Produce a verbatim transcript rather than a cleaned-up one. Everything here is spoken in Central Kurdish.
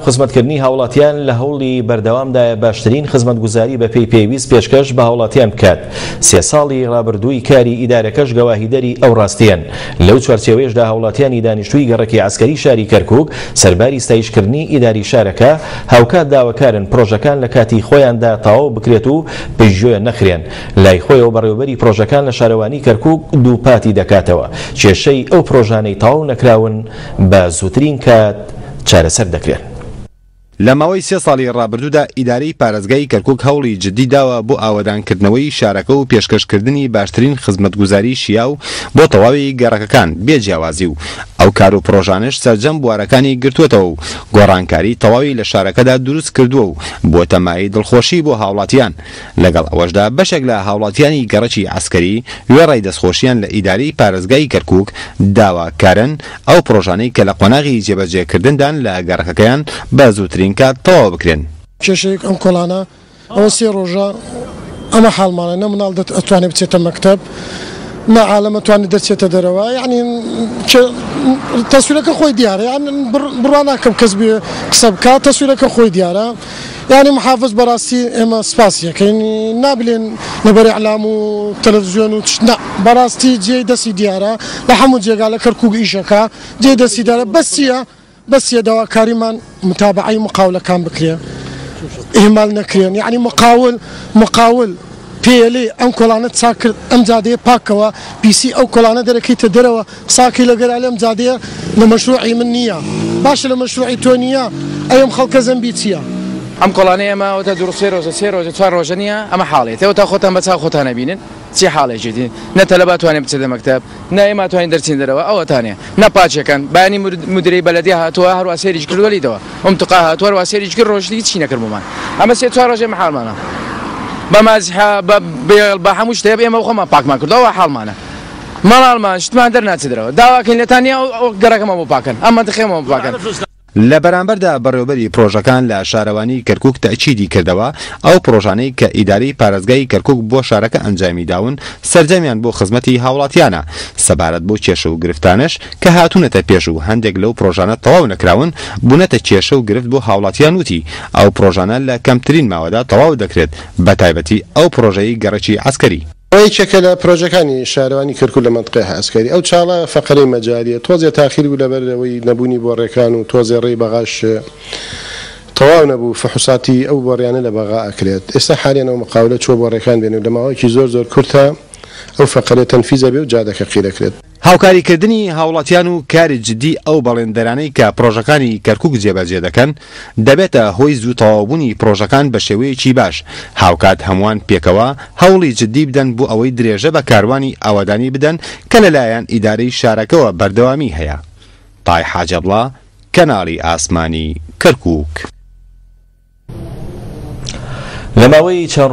خزمەتکردنی هاوڵاتیان لە هەوڵی بەردەوامدایە باشترین خزمەتگوزاری بە پێی پێویست پێشکەش بە هاوڵاتیان بکات. سێ ساڵی ڕابردووی کاری ئیدارەکەش گەواهیدەری ئەو ڕاستیان. لەو چوارچێوەیەشدا هاوڵاتیانی دانیشتووی گەڕەکی عەسکەری شاری کەرکوک سەرباری ستایشکردنی ئیداری شارەکە هاوکات داواکارن پرۆژەکان لە کاتی خۆیاندا تەواو بکرێت و پشتگوێ نەخرێن. لای خۆیەوە بەڕێوەبەری پرۆژەکان لە شارەوانی کەرکوک دووپاتی دەکاتەوە کێشەی ئەو پرۆژانەی تەواو نەکراون بە زووترین کات چارەسەر دەکرێن. لە ماوەی سێ ساڵی ڕابردوودا ئیدارەی پارێزگای کەرکوک هەوڵی جدی داوە بۆ ئاوەدانکردنەوەی شارەکە و پێشکەشکردنی باشترین خزمەتگوزاری شیاو بۆ تەواوی گەڕەکەکان بێ جیاوازی و ئەو کار و پرۆژانش سەرجەم بوارەکانی گرتووەتەوە و گۆڕانکاری تەواوی لە شارەکەدا دروست کردووە و بۆتە مایەی دڵخۆشی بۆ هاوڵاتیان. لەگەڵ ئەوەشدا بەشێک لە هاوڵاتیانی گەڕەکی عەسکەری وێڕای دەستخۆشیان لە ئیدارەی پارێزگای کەرکوک داواکارن ئەو پرۆژانەی کە لە قۆناغی جێبەجێکردندان لە گەڕەکەکەیان بە زووترین کات تەواو بکرێن. کێشەیەک ئەم کۆڵانە ئەوە سێ ڕۆژە ئەمە حاڵمانە، نە مناڵ ئەتوانێت بچێتە مەکتەب، نە عالەم ئەتوانێت دەرچێتە دەرەوە. یعنی تەسویرەکە خۆی دیارە، یعنی بڕوا ناکەم کەس بێ قسە بکات، تەسویرەکە خۆی دیارە. یعنی محافظ بەڕاستی ئێمە سپاسیەکەین، نابلێن لەبەر ئیعلام و تەلەڤیزیۆن و نا، بەڕاستی جێی دەستی دیارە لە هەموو جێگا لە کەرکوک ئیشەکە جێی دەستی دیارە. بەسیە بەسیە داواکاریمان متابعەی مقاولەکان بکرێن، ئیهمال نەکرێن. یعنی مقاول مقاول پێلێ ئەم کۆڵانە چاک کرد، ئەم جادەیە پاکەوە، پیسی ئەو کۆڵانە دەرەکەیتە دەرەوە، قساکەی لەگەر ئەم جادەیە لە مەشروعی من نییە، باشە لە مەشروعی تۆ نییە، ئەم خەڵکە زەمبی چییە؟ ئەم کۆڵانەی ئێمە ئەوەتا دوو سێ ڕۆژە سێ ڕۆژە چوار ڕۆژە نییە، ئەمە حاڵێت. ئەوەتا خۆتان بە چاو خۆتان نەبینن چی حاڵێکی، نە تەلەبا توانێت بچێتە مەکتەب، نە ئێمە توانین دەرچین دەرەوە، ئەوەتانێ نە پاچەکەن. بەیانی مدیرەی بەلەدیە هاتووە هەروە سێریش کردووە لیدەوە، ئەم تقا هاتووە هەروە سێریش کرد، ڕۆژی هیچی نەکردبوومان. ئەمە سێ چوار ڕۆژێ حاڵمانە بە مازیحە بە بێڵ بە هەموو شتێک ئێمە خۆمان پاکمان کردەوە حاڵمانە. ماڵمان شتمان دەرناچێت دەرەوە، داواکەین لێتان نییە ئەو گەڕەکەمان بۆ پاکەن، ئەم مەنتیقەیەمان بۆ پاکەن. لە بەرامبەردا بەڕێوەبەری پرۆژەکان لە شارەوانی کەرکوک تەئکیدی کردەوە ئەو پرۆژانەی کە ئیدارەی پارێزگای کەرکوک بۆ شارەکە ئەنجامی داون سەرجەمیان بۆ خزمەتی هاوڵاتیانە. سەبارەت بۆ کێشە و گرفتانش کە هاتوونەتە پێش و هەندێک لەو پرۆژانە تەواو نەکراون بوونەتە کێشە و گرفت بۆ هاوڵاتیان وتی ئەو پرۆژانە لە کەمترین ماوەدا تەواو دەکرێت، بە تایبەتی ئەو پرۆژەی گەڕەکی عەسکەری. یەکێکە لە پرۆژەکانی شارەوانی کەرکوک لە مەنتقەی عەسکەری. ئەو چاڵە فەقەرەی مەجاریە تۆزێ تاخیر بوو لەبەرەوەی نەبوونی بۆڕێکان و تۆزێ ڕێی بەغاش تەواو نەبوو، فحوساتی ئەو بۆڕیانە لە بەغا ئەکرێت. ئێستا حالیان ئەو مقاولە چووە بۆڕێکان بێن و لە ماوەیەکی زۆر زۆر کورتە ئەو فەقەرە تەنفیزە بێ و جادەکە قیرەکرێت. هاوکاریکردنی هاوڵاتیان و کاری جدی ئەو بەڵێندەرانەی کە پرۆژەکانی کەرکوک جێبەجێ دەکەن دەبێتە هۆی زوو تەواوبوونی پرۆژەکان بە شێوەیەکی باش. هاوکات هەمووان پێکەوە هەوڵی جدی بدەن بۆ ئەوەی درێژە بە کاروانی ئاوادانی بدەن کە لەلایەن ئیدارەی شارەکەوە بەردەوامی هەیە. تای حاجەبڵا، کەناڵی ئاسمانی کەرکوک. لە ماوەی چەند